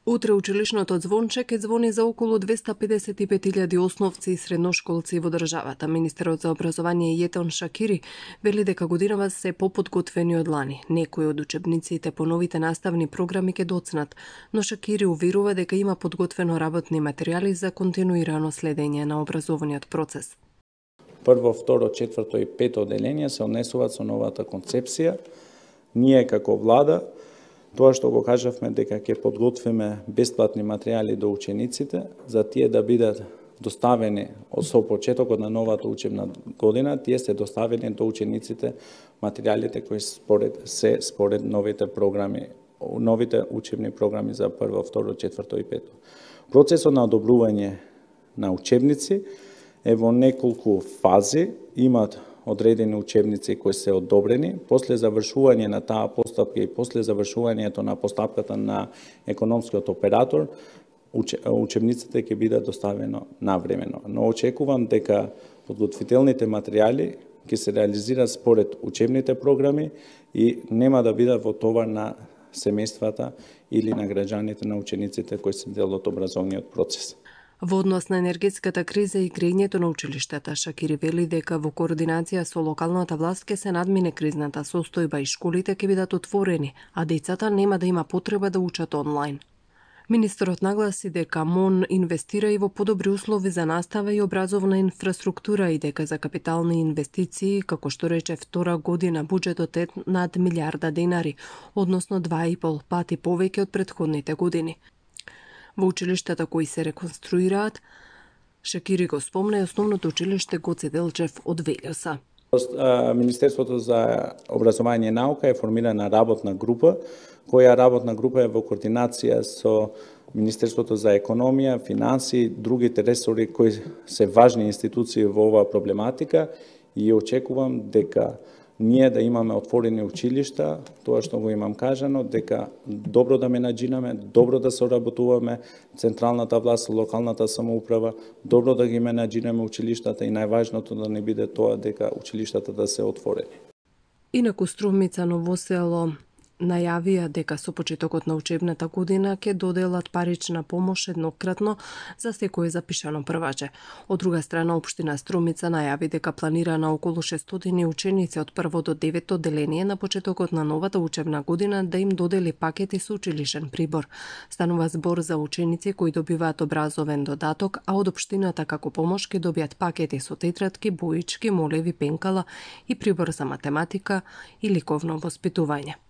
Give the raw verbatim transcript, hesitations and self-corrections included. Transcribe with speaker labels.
Speaker 1: Утре училишното звонче ќе звони за околу двеста педесет и пет илјади основци и средношколци во државата. Министерот за образование Јетон Шакири вели дека годинава се поподготвени од лани. Некои од учебниците по новите наставни програми ќе доцнат, но Шакири уверува дека има подготвено работни материјали за континуирано следење на образовниот процес.
Speaker 2: Прво, второ, четврто и пето одделение се однесуваат со новата концепција. Ние како влада тоа што го кажавме дека ќе подготвиме бесплатни материјали до учениците, за тие да бидат доставени со почетокот на новата учебна година, тие се доставени до учениците материјалите кои според се според новите програми, новите учебни програми за прво, второ, четврто и пето. Процесот на одобрување на учебници е во неколку фази, имат одредени учебници кои се одобрени, после завршување на таа постапка и после завршувањето на постапката на економскиот оператор, учебниците ќе бидат доставено навремено. Но очекувам дека подготвителните материјали ќе се реализираат според учебните програми и нема да бидат во товар на семејствата или на граѓаните, на учениците кои се дел од образовниот процес.
Speaker 1: Во однос на енергетската криза и грејењето на училиштата, Шакири вели дека во координација со локалната власт ќе се надмине кризната состојба и школите ќе бидат отворени, а децата нема да има потреба да учат онлайн. Министерот нагласи дека МОН инвестира и во подобри услови за настава и образовна инфраструктура и дека за капитални инвестиции, како што рече втора година, буџетот е над милиарда денари, односно два и пол пати повеќе од претходните години. Во училиштата кои се реконструираат, Шакири го спомна и основното училиште Гоце Делчев од Велјоса.
Speaker 2: Министерството за образование и наука е формирана работна група, која работна група е во координација со Министерството за економија, финансии, другите ресори кои се важни институции во оваа проблематика и очекувам дека ние да имаме отворени училишта, тоа што го имам кажано, дека добро да менаџираме, добро да соработуваме, централната власт, локалната самоуправа, добро да ги менаџираме училиштата и најважното да не биде тоа дека училиштата да се отворени.
Speaker 1: Инаку Струмица, Ново село најавија дека со почетокот на учебната година ќе доделат парична помош еднократно за секое запишано прваче. Од друга страна, општина Струмица најави дека планира на околу шестстотини ученици од прво до девето одделение на почетокот на новата учебна година да им додели пакети со училишен прибор. Станува збор за ученици кои добиваат образовен додаток, а од општината како помош ќе добијат пакети со тетратки, боички, молеви, пенкала и прибор за математика и ликовно воспитување.